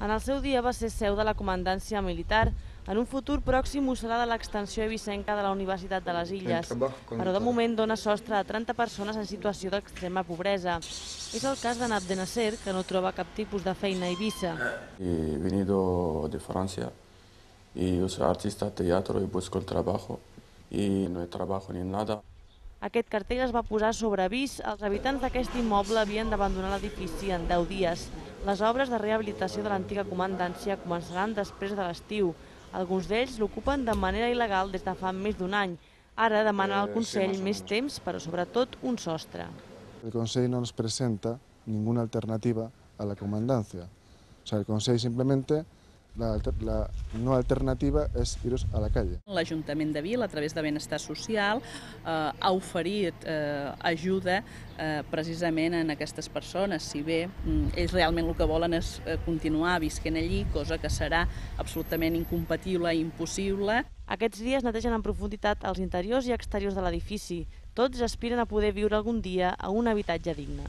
En el seu dia va ser seu de la comandància militar. En un futur pròxim ho serà de l'extensió eivissenca de la Universitat de les Illes, però de moment dona sostre a 30 persones en situació d'extrema pobresa. És el cas de Abdenasser, que no troba cap tipus de feina a Eivissa. He venido de Francia y yo soy artista de teatro y busco el trabajo y no hay trabajo ni nada. Aquest cartell es va posar sobre avís. Els habitants d'aquest immoble havien d'abandonar l'edifici en 10 dies. Les obres de rehabilitació de l'antiga comandància començaran després de l'estiu. Alguns d'ells l'ocupen de manera il·legal des de fa més d'un any. Ara demanen al Consell més temps, però sobretot un sostre. El Consell no nos presenta ninguna alternativa a la comandancia. O sea, el Consell simplemente, la no alternativa és iros a la calle. L'Ajuntament de Vic, a través de Benestar Social, ha oferit ajuda precisament a aquestes persones. Si bé ells realment el que volen és continuar visquent allí, cosa que serà absolutament incompatible i impossible. Aquests dies netegen en profunditat els interiors i exteriors de l'edifici. Tots aspiren a poder viure algun dia a un habitatge digne.